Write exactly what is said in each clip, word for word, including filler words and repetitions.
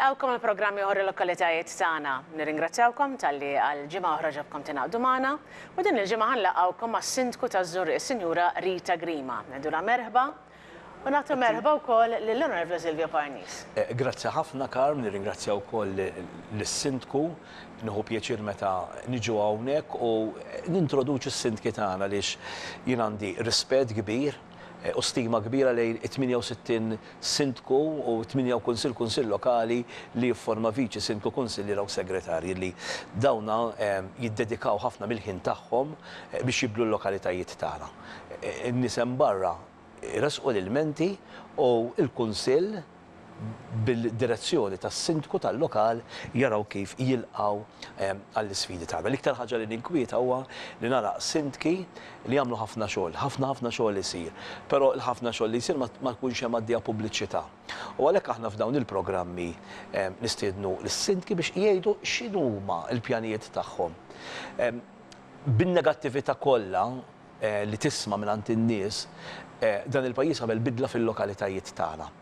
Nilqgħukom il-programm ieħor Il-Lokalitajiet Tagħna. Nirringrazzjawkom talli għal ġimgħa oħra ġobkom tingħaqdu magħna u din il-ġimgħa ħa nlaqgħukom mas-Sindku taż-Żurrieq, is-Sinjura Rita Grima. Ngħidulha merħba u nagħtu merħba wkoll lill-Onorevoli Silvio Parnis. Eh, grazzi ħafna, Karm, nirringrazzja wkoll lis-Sindku. Nieħu pjaċir meta niġu hawnhekk u nintroduċu s-sindki tagħna għaliex jien għandi rispett kbir eh, u stima kbira lejn it-tmienja u sittin sindku u tmienja kunsill kunsill lokali li jifforma viċi sindku, kunsilliera u segretarji li dawna eh, jiddedikaw ħafna mill-ħin tagħhom eh, biex jibdlu l-lokalitajiet tagħna. In-nies hemm barra resqu l-ilmenti u il-kunsill bil-direzzjoni tas-sindku tal-lokal jaraw kif jilqaw għall-isfidi tagħna. L-iktar ħaġa li ninkwieta huwa li nara sindki li jagħmlu ħafna xogħol, ħafna ħafna xogħol isir, però l-ħafna xogħol li jsir ma jkunx hemm għaddija pubbliċità. U għalhekk aħna f'dawn il-programmi nistiednu lis-sindki biex jgħidu x'inhuma l-pjanijiet tagħhom. Bin-negattività kollha eh, li tisma' minn in-nies, eh, dan il-pajjiż għamel bidla fil-lokalitajiet tagħna.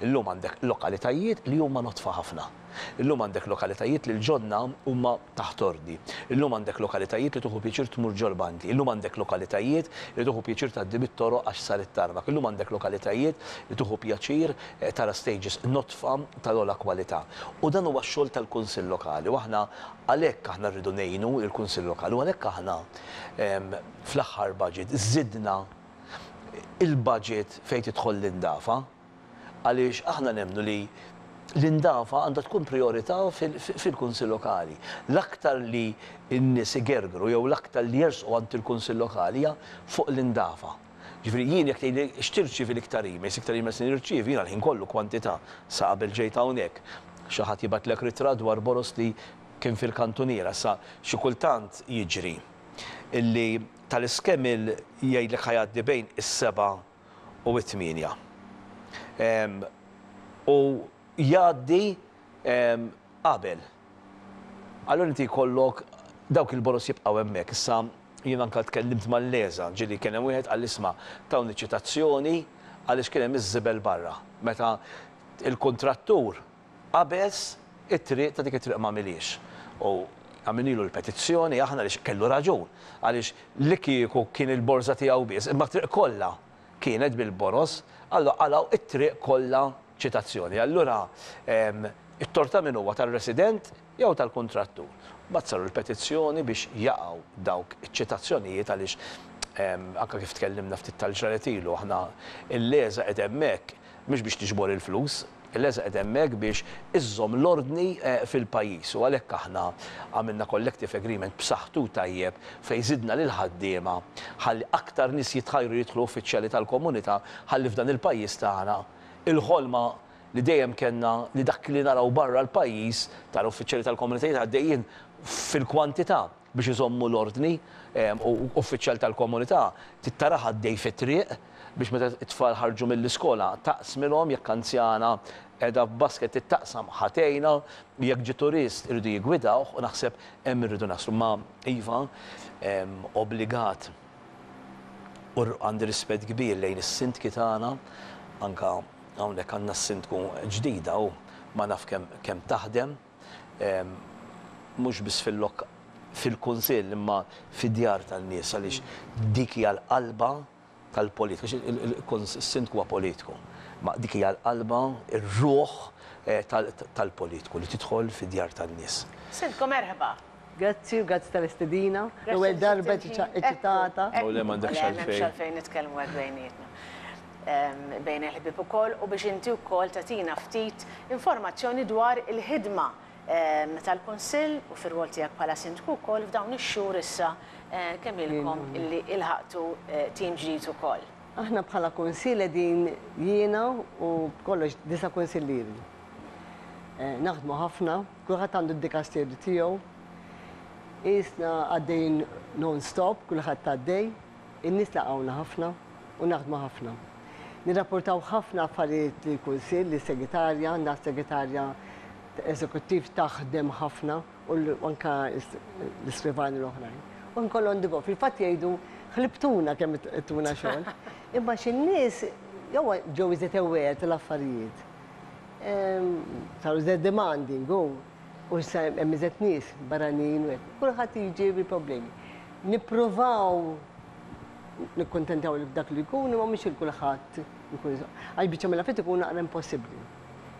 Illum għandek lokalitajiet li huma nodfa ħafna. Illum għandek lokalitajiet li l-ġonna huma taħt ordni. Illum għandek lokalitajiet li tieħu pjaċir tmur ġol-bandli. Illum għandek lokalitajiet li tieħu pjaċir tgħaddi bit-toroq għax sar it-tarmak. Illum għandek lokalitajiet li tieħu pjaċir eh, tara stages nodfa tal-ogħla kwalità. U dan huwa x-xogħol tal-Kunsill Lokali. U aħna għalhekk aħna rridu ngħinu il-Kunsill Lokali u għalhekk aħna fl-aħħar budget żidna il-budget fejn tidħol l-indafa, għaliex aħna nemmnu li l-indafa għandha tkun priorità fil-Kunsill Lokali. L-aktar li n-nies igergru jew l-aktar li jersqu għand il-Kunsill Lokali hija fuq l-indafa. Ġifieri jien jekk tgħidli x'tirċievi l-iktar emails, iktar emails li nirċievi jiena l-ħin kollu kwantità sa qabel ġejt hawnhekk. Xi ħadd jibgħatlek ritratt dwar boroż li kien fil-kantuniera, sa xi kultant jiġri illi tal-iskemil jgħidlek ħa jgħaddi bejn is-seba' u it-tmienja. U jgħaddi qabel. Allura inti jkollok dawk il-boroż jibqgħu hemmhekk. Issa jien anka tkellimt mal-LESA, ġieli kien hemm wieħed qal, "Isma', tawni ċitazzjoni għaliex kien hemm iż-żibel barra." Meta il-kontrattur qabeż it-triq ta' dik it-triq ma miliex. U għamilnilu l-petizzjoni aħna li kellu raġun għaliex li kieku kien il-borża tiegħu biss, imma triq kollha kienet bil-boroż, allura qalgħu it-triq kollha ċitazzjoni. Allura it-tort ta' min huwa, tal-resident jew tal-kontrattur? Mbagħad saru l-petizzjoni biex jaqgħu dawk iċ-ċitazzjonijiet għaliex anka kif tkellimna ftit tal-ġranet ilu, aħna il-LESA qed hemmhekk mhux biex tiġbor il-flus, il-LESA qed hemmhekk biex iżżomm l-ordni eh, fil-pajjiż u għalhekk aħna għamilna collective agreement b'saħħtu tajjeb fejn żidna lil ħaddiema ħalli aktar nies jitħajru jidħlu uffiċjali tal-komunità, ħalli f'dan il-pajjiż tagħna il-ħolma li dejjem kellna, li dak li naraw barra l-pajjiż, tal-uffiċjali tal-komunitajiet għaddejjin fil-kwantità biex iżommu l-ordni, u uffiċjal tal-komunità tittara għaddej fit-triq biex meta t-tfal ħarġu mill-iskola taqsmilhom, jekk anzjana qiegħda f'basket taqsam ħatejna, jekk ġi turist irridu jigwidawh, u naħseb hemm irridu naslu. Ma iva, obbligat u għandi rispett kbir lejn is-sindki tagħna, anka hawnhekk għandna s-sindku ġdida u ma naf kemm kemm taħdem, mhux biss fil-lok fil-kunsill imma fid-djar tan-nies, għaliex dik hija l-qalba tal-politika. Il-sindku huwa politiku, ma dik hija l-qalba, ir-ruħ eh, tal-politiku li tidħol fid-djar tan-nies. Sindku, merħba. Grazzi u grazzi tal-istedina. L-ewwel darba eċitata. U le, m'għandekx għalfejn. Għalfejn nitkellmu hekk bejnietna. Bejn il-ħbieb ukoll u biex inti wkoll tagħtina ftit informazzjoni dwar il-ħidma tal-Kunsill u fir-rwol tiegħek bħala sindku wkoll f'dawn ix-xhur issa eh, kemm ilkom illi ilħaqtu eh, tim ġdid ukoll. Aħna bħala kunsill qegħdin jiena u kollox disa' kunsillieri. Eh, naħdmu ħafna, kulħadd għandu d-dikasteru tiegħu. Isna għaddejn non-stop, kulħadd għaddej, in-nies laqgħuna ħafna u naħdmu ħafna. Nirrapportaw ħafna affarijiet lill-kunsill, lis-segretarja, għandna segretarja eżekuttiv taħdem ħafna u anka l-iskrivani l-oħrajn. U nkollu on the go. Fil-fatt jgħidu ħlibtuna kemm tuna xogħol. Imma xi nies jew ġew iżjed aware tal-affarijiet. Saru iżjed demanding, u hemm iżjed nies barranin u hekk. Kulħadd jiġi bil-problemi. Nippruvaw nikkuntentaw dak li jkun, imma mhux il kulħadd ikun. Għax biċċa mill-affarijiet ikun naqra impossibbli.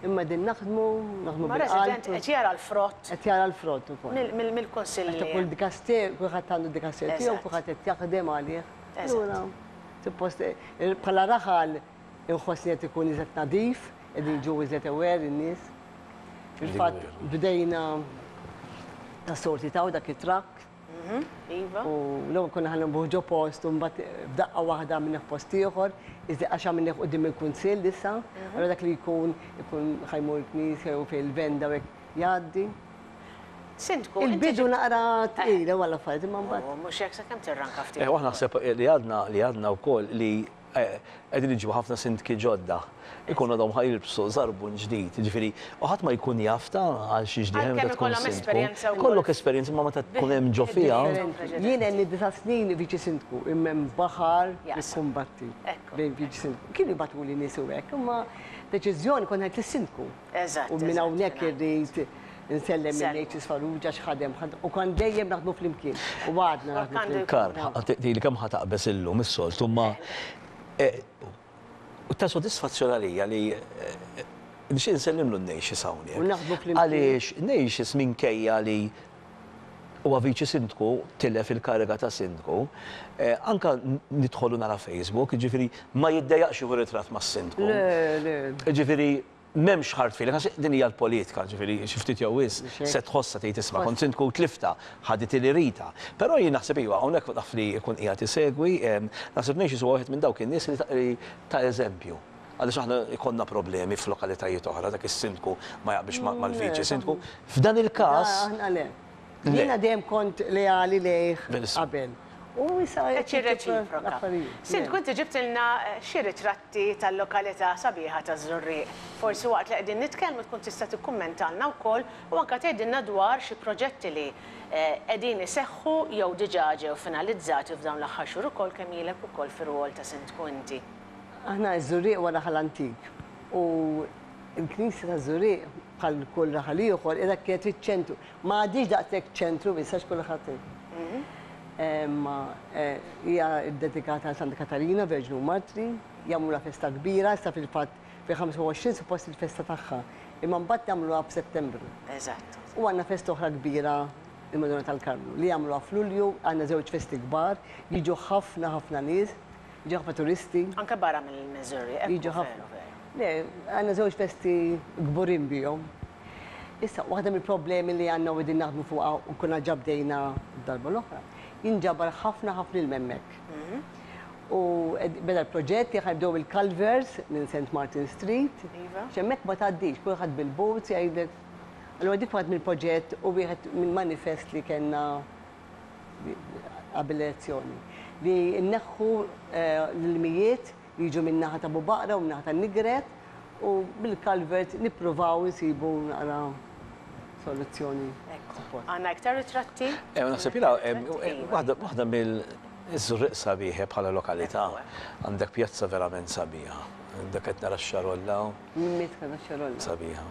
Imma din naħdmu, naħdmu Ma resident qed jara l-frott. Qed jara l-frott ukoll. Mill-kunsill. Kull dikaster, kulħadd għandu dikaster tiegħu, kulħadd qed jaħdem għalih. Allura, suppost bħala raħal inħossni qed ikun iżjed nadif, qegħdin ġew iżjed aware in-nies. Fil-fatt bdejna ta' sorti taw dak it-trakk. Iva. U l-ewwel konna ħa nbuħ ġo post u mbagħad f'daqqa waħda għamilnieh post ieħor, iżda għax għamilnieh quddiem il-kunsill issa, allura dak li jkun ikun ħa jmur knisja jew fejn il-venda u hekk jgħaddi. Sindku, Il-bidu naqra tqila wara affarijiet imma mbagħad. Mhux hekk sakemm tirranka ftit. Eh, aħna naħseb li għadna li għadna wkoll li qegħdin iġibu ħafna sindki ġodda. Ikun għadhom ħa jilbsu żarbun ġdid, ġifieri, u ħadd ma jkun jafta għal xi ġdid meta tkun sindku. Kollok esperjenza ma meta tkun hemm ġo fiha. Jien għandi disa' snin viċi sindku, imma hemm baħar nikkumbatti bejn viċi sindku. Kienu jibagħtuli nies u hekk, imma deċiżjoni kont ngħid lis-sindku. U minn hawnhekk irrid insellem lil H S Farrugia x'ħadem u kon dejjem naħdmu flimkien. U għadna naħdmu flimkien. Karl, tgħidli kemm ħa taqbeż illum is-soltu, imma u ta' sodisfazzjon għalija li nixtieq nsellimlu n-Nejxis hawnhekk. U naħdmu flimkien. Għaliex Nejxis minkejja li huwa viċi sindku, tilef il-kariga ta' sindku, anka nidħolu nara Facebook, ġifieri ma jiddejjaqx jieħu ritratt mas-sindku. Le, le. Ġifieri m'hemmx hard feeling, għax din hija l-politika, ġifieri xi ftit jew wisq se tħossha tgħid isma' kont sindku tlifta, ħadit li rita. Però jien naħseb iva hawnhekk naf li jkun qiegħed isegwi, naħseb Nejxis huwa wieħed minn dawk in-nies li ta' eżempju. Għaliex aħna jkollna problemi f'lokalitajiet oħra, dak is-sindku ma jaqbilx mal-viċi sindku. F'dan il-każ. Aħna le. Jiena dejjem kont leali lejh qabel. U issa Qed jirreċiproka. Sindku, inti ġibtilna xi ritratti tal-lokalità sabiħa taż-Żurrieq. Forsi waqt li qegħdin nitkellmu tkun tista' tikkummentalna wkoll u anke tgħidilna dwar xi proġetti li qegħdin iseħħu jew diġà ġew finalizzati f'dawn l-aħħar xhur ukoll kemm ilek ukoll fir-rwol ta' sindku inti. Aħna ż-Żurrieq wara raħal antik u l-Knisja taż-Żurrieq bħal kull raħal ieħor qiegħda kienet fiċ-ċentru. Ma għadix daqshekk ċentru issa x'kulħadd. Ma hija ddedikata għal Santa Katarina, Verġnu Martri, jagħmluha festa kbira, issa fil-fatt fi ħamsa u għoxrin suppost il-festa tagħha. Imma mbagħad jagħmluha f'Settembru. Eżatt. U għandna festa oħra kbira il-Madonna tal-Karmnu li jagħmluha f'Lulju, għandna żewġ festi kbar, jiġu ħafna ħafna nies, jiġu ħafna turisti. Anke barra mill-Missouri, Jiġu ħafna. Le, għandna żewġ festi kburin bihom. Issa, waħda mill-problemi li għandna u qegħdin naħdmu fuqha u konna ġa bdejna darba l-oħra, jinġabar ħafna ħafna ilma hemmhekk. U beda l-proġett li ħajbdew il-culverts minn Saint Martin Street. X'hemmhekk ma tgħaddix, kulħadd bil-boats jgħidlek. Allura dik waħda mill-proġett u wieħed minn manifest li kellna qabel l-elezzjoni. Li nneħħu l-ilmijiet li jiġu minn naħa ta' Bubaqra u minn naħa ta' Nigret u bil-culvert nippruvaw insibu naqra soluzzjoni. Għandna iktar ritratti? Eh, naħseb jiena, waħda mill-Żurrieq sabiħa bħala lokalità. Għandek pjazza verament sabiħa. Għandek qed nara x-xarolla. Mitħna x-xarolla. Sabiħa.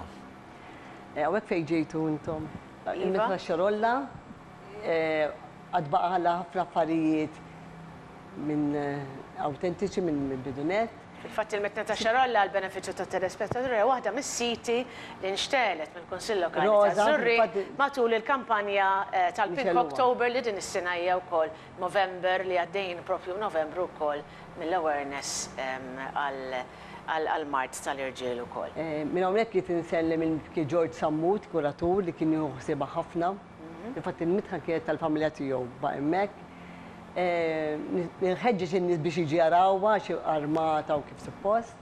Hawnhekk fejn ġejtu intom. Mitħna x-xarolla, għad baqa' ħafna affarijiet minn autentiċi minn bidunet. Fil-fatt il-Mitħna ta' Xarolla għal benefiċċju ta' telespettaturi hija waħda mis-siti li nxtelet mill-Kunsill Lokali ta' Żurrieq matul il-kampanja tal-Pink October li din is-sena hija wkoll November li għaddejjin propju Novembru wkoll mill-awareness għal-mard tal-irġiel ukoll. Minn hawnhekk qed insellem il George Sammut, kuratur li kien jieħu ħsiebha ħafna. Infatti il-mitħna kienet tal-familja tiegħu ba' hemmhekk. Nħeġġeġ in-nies biex jiġi jarawha xi armata u kif suppost.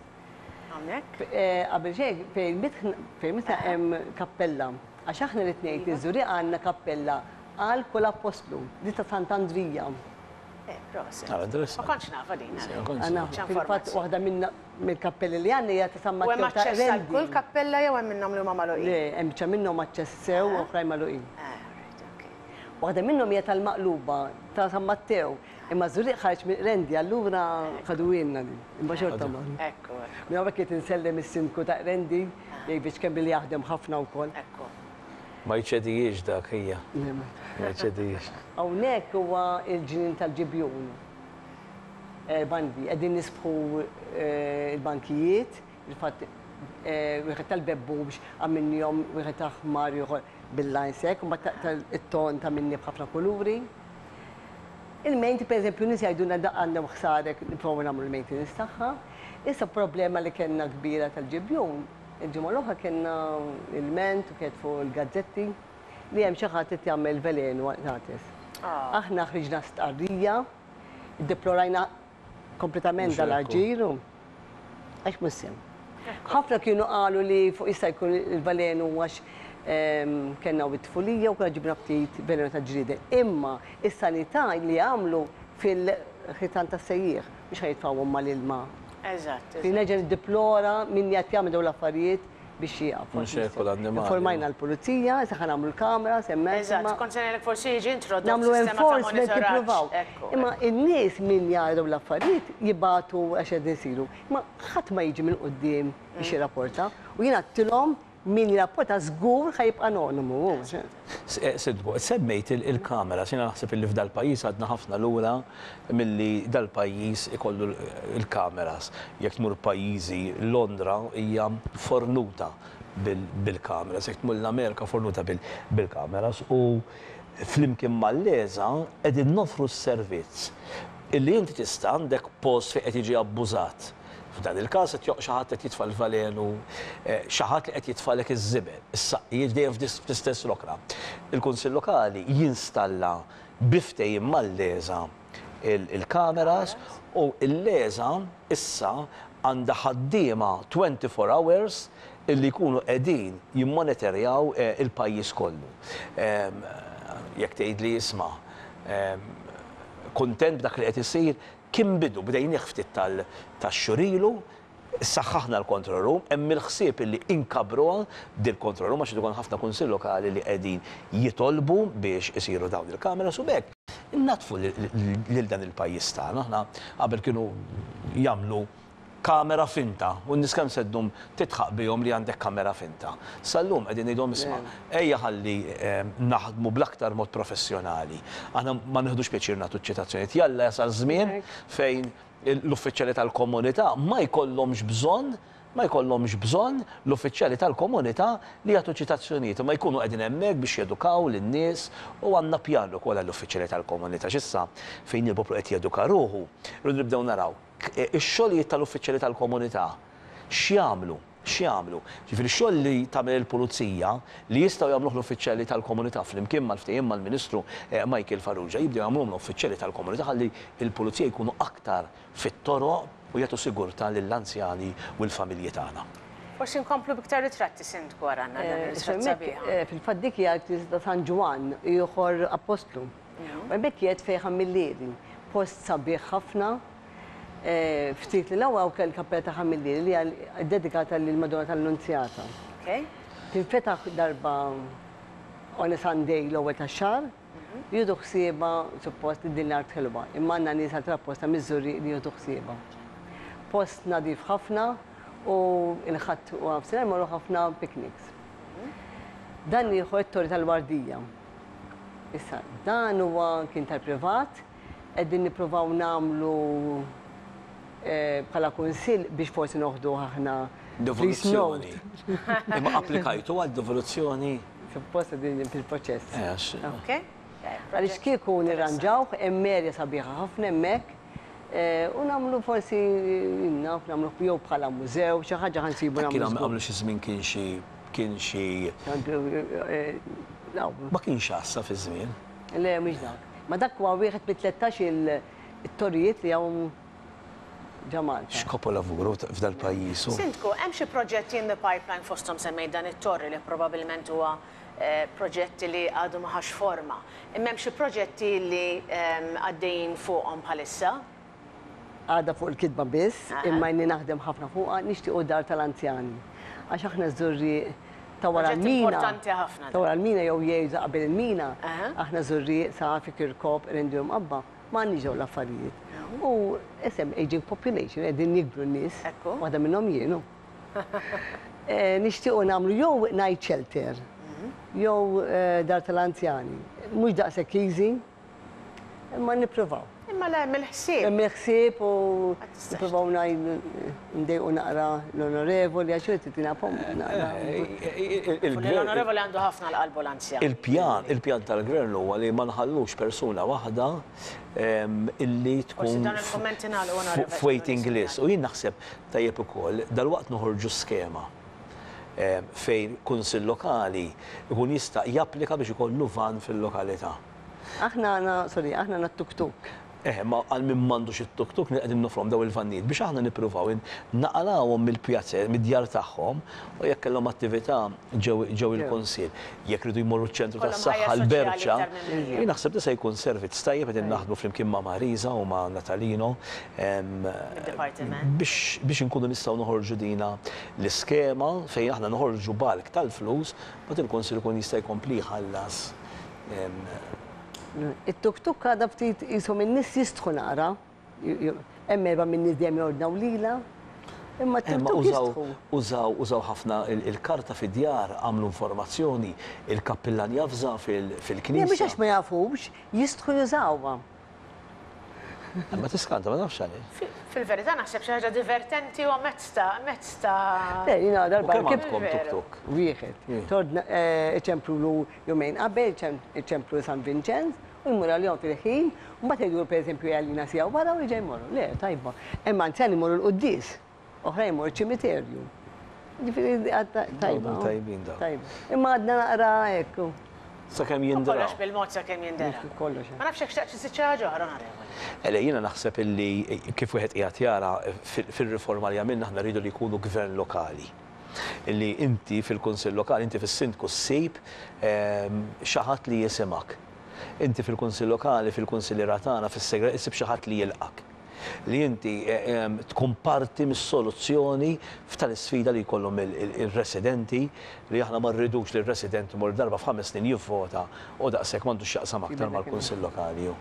Hawnhekk? Qabel xejn fejn mitħna hemm kappella. Għax aħna li tnejn iż-Żurrieq għandna kappella għal kull appostlu, di ta' Sant'Andrija. Eh, proset. Ma kontx nafa din. Fil-fatt waħda mill-kappelli li għandna hija ta' San Matteo. U hemm aċċess għal kull kappella jew hemm minnhom li huma magħluqin? Le, hemm biċċa minnhom aċċess sew u oħrajn magħluqin. Waħda minnhom hija tal-Maqluba ta' San Matteo. Imma Żurrieq ħareġ minn Qrendi, allura ħaduhielna din. Imma xorta ma. Ekku, Minn hawnhekk qed insellem is-sindku ta' Qrendi, David Schembri, li jaħdem ħafna wkoll. Ekku. Ma jċedijiex dak hija. Ma jċedijiex. Hawnhekk huwa il-ġnien tal-Ġibjun. Bandi, qegħdin nisbħu il-bankijiet, il-fatt wieħed tal-bebbu biex għamilnihom wieħed aħmar, ieħor bil-lines hekk, u mbagħad it-ton ta' minni b'ħafna kuluri. Il-maintenance, per eżempju, nies jgħidulna da għandhom ħsarek, nipprovaw nagħmlu l-maintenance tagħha. Issa problema li kellna kbira tal-Ġibjun, il-ġimgħa l-oħra kellna il-ment u kienet fuq il-gazzetti li hemm xi ħadd qed jagħmel velenu għal-qtates. Aħna ħriġna stqarrija, deplorajna kompletament Mhux ekku. dal-aġir, għax mhux sew. Ħafna kienu qalu li fuq jista' jkun il-velenu għax ehm, kellna u t-tfulija u kellna ġibna ftit velenu ta' ġrieden. Imma is-sanità li għamlu fil-ħitan tas-sejjieħ biex ħa jitfgħuhom mal-ilma. Eżatt. Fi nerġa' niddeplora min qed jagħmel dawn l-affarijiet biex jieqaf. Mhux hekk, u l-annimali. Informajna l-pulizija, issa ħa nagħmlu l-kamera, semmek. Eżatt, kont se ngħidlek forsi jiġi introdott Nagħmlu sistema ta' enforcement monitoraġġ. nippruvaw. Ekku, Imma in-nies min jaraw l-affarijiet jibagħtu għax qed isiru. Imma ħadd ma jiġi minn quddiem biex jirrapporta. U jiena għedtilhom min jirrapporta żgur ħa jibqa' anonimu. Sindku, semmejt il- il-kamera, jiena naħseb illi f'dal-pajjiż għadna ħafna lura milli dal-pajjiż ikollu il-kameras. Jekk tmur pajjiżi, Londra hija fornuta bil- bil-kameras, jekk tmur l-Amerika fornuta bil- bil-kameras u flimkien mal-LESA qegħdin nofru s-servizz illi inti tista' għandek post fejn qed jiġi abbużat. F'dan il-każ qed joq xi ħadd qed jitfa' l-valenu, eh, xi ħadd li qed jitfalek iż-żibel, is-saqqijiet dejjem fl-istess rokna. Il-Kunsill Lokali jinstalla bi ftehim mal-LESA il-kameras u il-LESA issa għandha ħaddiema twenty-four hours illi jkunu qegħdin jimmonitorjaw eh, il-pajjiż kollu. Em, Jekk tgħid li isma' em, kontent b'dak li qed isir, kien bidu bdejnieh ftit tal-xhur ilu, saħħaħna l-control room, hemm il-ħsieb illi inkabruha dil-control room għax ikun ħafna kunsill lokali li qegħdin jitolbu biex isiru dawn il-kameras u b'hekk innadfu lil dan il-pajjiż tagħna. Aħna qabel kienu jagħmlu kamera finta u n-nies kemm se ddum titħaq bihom li għandek kamera finta. Sal-lum qegħdin ngħidhom isma' ejja ħalli em, naħdmu bl-aktar mod professjonali. Aħna ma nieħdux pjaċir nagħtu ċitazzjonijiet. Jalla jasal żmien fejn l-uffiċjali tal-komunità ma jkollhomx bżonn ma jkollhomx bżonn l-uffiċjali tal-komunità li jagħtu ċitazzjonijiet, ma jkunu qegħdin hemmhekk biex jedukaw lin-nies u għandna pjan ukoll għall-uffiċjali tal-komunità. X'issa fejn il-poplu qed jeduka ruħu, rridu nibdew naraw ix-xogħlijiet tal-uffiċjali tal-komunità x'jagħmlu, x'jagħmlu. Ġifieri x-xogħol li tagħmel il-pulizija li jistgħu jagħmluh l-uffiċjali tal-komunità flimkien mal-ftehim mal-Ministru eh, Michael Farrugia jibdew jagħmluhom l-uffiċjali tal-komunità ħalli il-pulizija jkunu aktar fit-toroq u jagħtu sigurtà lill-anzjani u l-familji tagħna. Forsi nkomplu biktar ritratti, Sindku, għaranna dan Eh, ir-ritratt Hemmhekk, sabiħa. eh, Fil-fatt dik hija l-Knisja ta' San Ġwann, ieħor Apostlu. U hemmhekk qiegħed fejn Ħammillieri, post sabiħ ħafna. eh, Ftit li l-ewwel kell kappella ta' Ħammillieri li hija dedikata lil Madonna tal-Annunzjata. Okay? Tinfetaħ darba on a Sunday l-ewwel tax-xahar, jieħdu ħsiebha suppost li din l-art ħelwa, imma għandna nies għal apposta miż-Żurrieq li jieħdu ħsiebha. Post nadif ħafna u il-Ħadd u nofsinhar morru ħafna picnics. Dan ieħor it-Torri tal-Wardija. Issa, dan huwa kien tal-privat, qegħdin nippruvaw nagħmlu eh, bħala kunsill biex forsi noħdu aħna Devoluzzjoni. Imma applikajtu għal devoluzzjoni? Suppost din fil-proċess. Eh, għax- Okay? Għaliex kieku nirranġawh, hemm erja sabiħa ħafna hemmhekk, eh, u nagħmlu forsi naf nagħmlu jew bħala mużew, xi ħaġa ħa nsibu Kien nagħmlu. għamlu xi żmien kien xi kien xi Eh, ma kienx għassa fi żmien. Le, mhux dak. Ma dak huwa wieħed mit-tlettax il-torrijiet li hawn ġo Malta. X'kapolavuru f'dal pajjiż. Sindku, hemm xi proġetti in the pipeline, fosthom semmejt dan it-torri li probabbilment huwa eh, proġetti li għadu ma ħax forma. Imma hemm xi proġetti li ehm, għaddejjin fuqhom bħalissa? Għada fuq il-kitba biss, Aha. imma inni naħdem ħafna fuqha, nixtiequ dar tal-anzjani. Għax aħna Żurrieq ta' wara Proġett l-mina. importanti ħafna Ta' wara l-mina jew jgħidu qabel il-mina. Aha. Aħna Żurrieq, Safi, Kirkop, Qrendi u Mqabba. M'għandniex dawn l-affarijiet. U isem aging population, qegħdin jikbru n-nies. Ekku. Waħda minnhom jienu. Eh, Nixtiequ nagħmlu jew night shelter, jew eh, dar tal-anzjani. Mhux daqshekk easy, imma nippruvaw. Imma le, hemm il-ħsieb. Hemm il-ħsieb u Ma tistax. nippruvaw ngħid ndejqu naqra l-onorevoli għax irid titina pom naqra. L-onorevoli għandu ħafna l-qalbu l-anzjan. Il-pjan, il-pjan tal-gvern huwa li ma nħallux persuna waħda em, illi Forsi tkun dan il-kommenti nagħlqu, onorevoli. f'waiting list. U jien naħseb tajjeb ukoll dalwaqt noħorġu skema em, fejn kunsill lokali ikun jista' japplika biex ikollu van fil-lokalità. Aħna għandna, sorry, aħna għandna tuk-tuk. Eh, ma għal min m'għandux it-tuk-tuk qegħdin noffruhom daw il-vannijiet biex aħna nippruvaw in- naqalawhom mill-pjazze, mid-djar tagħhom u jekk kellhom attività ġew ġew il-kunsill. Jekk ridu jmorru ċ-ċentru Kollhom tas-saħħa ħajja soċjali l-Berċa, iktar minn mija. jien naħseb li se jkun servizz tajjeb qegħdin naħdmu flimkien ma' Marisa u ma' Natalino em, Id-dipartiment. biex biex inkunu nistgħu noħorġu dina l-iskema fejn aħna noħorġu bulk tal-flus, bat il-kunsill ikun jista' jkompli jħallas em, It-tuk-tuk għadha ftit jisom in-nies jistħu naqra. Hemm erba' minn nies dejjem jordnaw lila. Imma Imma t-tuk-tuk użaw, jistħu. użaw, użaw ħafna il- il-karta fid-djar, għamlu informazzjoni, il-kappillan javża fil- Le, mhux fil-knisja. għax ma jafux, jistħu jużawha. Ma tiskanta, ma nafx għaliex. Fil-verità naħseb xi ħaġa divertenti u mezz ta' mezz ta' Le, jiena U darba kemm rkibt għandkom Veru. tuk-tuk? wieħed. Tordna iċemplulu jumejn qabel, iċemplu San Vincenz, u jmur għalihom fil-ħin, u mbagħad jgħidu pereżempju għalina sija wara u jiġi jmorru. Le, tajba. Imma anzjani jmorru l-quddies, oħra jmorru ċimiterju. Ġifieri għadda tajba. Dawn tajbin dawn. Tajba. Imma għadna naqra ekku. Sakemm Kollox jindraw. bil-mod sakemm jindera. Kollox. Ma nafx jekk xtaqt xi xi ħaġa oħra, onorevoli. Ele, jiena naħseb illi kif wieħed qiegħed jara fil- fil-riforma li għamilna aħna rridu li jkunu gvern lokali. Illi inti fil-kunsill lokali, inti fis-sindku ssib ehm, xi ħadd li jisimak. Inti fil-kunsill lokali, fil-kunsilliera tagħna, fis-segret, issib xi ħadd li jilqak. Li inti eh, ehm, tkun parti mis-soluzzjoni f'tal-isfida li jkollhom il- il- il-residenti li aħna ma rridux li r-resident imur darba f'ħames snin jivvota u daqshekk m'għandux x'jaqsam aktar mal-kunsill lokali.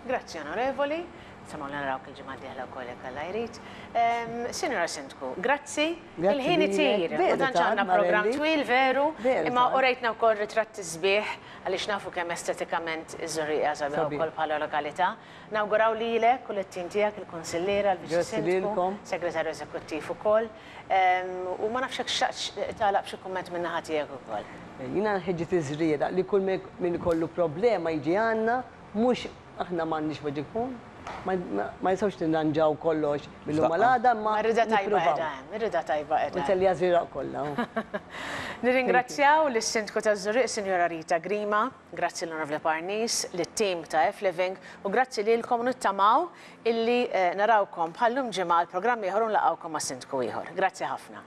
Grazzi, onorevoli. Samaw narawk il-ġimgħa d-dieħla wkoll jekk Alla jrid. Ehm, Sinjora Sindku, grazzi. Grazzi Il-ħin lilek. itir. Ma Veru tantx tant, għandna programm Marelli. twil veru, Veru imma tant. urejtna wkoll ritratti sbieħ għaliex nafu kemm estetikament iż-Żurrieq sabiħ Sabiħ. ukoll bħala lokalità. Nawguraw lilek u lit-tim tiegħek il-kunsilliera, l-Viċi Grazzi Sindku, lilkom. Segretarju Eżekuttiv ukoll. Ehm, U ma nafx jekk xtaqtx tagħlaq b'xi kumment minn naħa tiegħek ukoll. Jiena nħeġġeġ iż-Żrieraq li kull min ikollu problema jiġi għandna, mhux aħna m'għandniex magic phone, ma ma nistgħux nirranġaw kollox mill-lum għal għada, ma Ma rida tajba nippruvaw. qiegħda hemm, ir-rida tajba qiegħda hemm. Nselli għaż-Żrieraq kollha. Nirringrazzjaw lis-Sindku taż-Żurrieq, Sinjora Rita Grima, grazzi l-Onorevoli Parnis, lit-tim ta' F-Living u grazzi lilkom nittamaw illi eh, narawkom bħallum ġimgħa l-programm ieħor u nlaqgħukom ma' Sindku ieħor. Grazzi ħafna.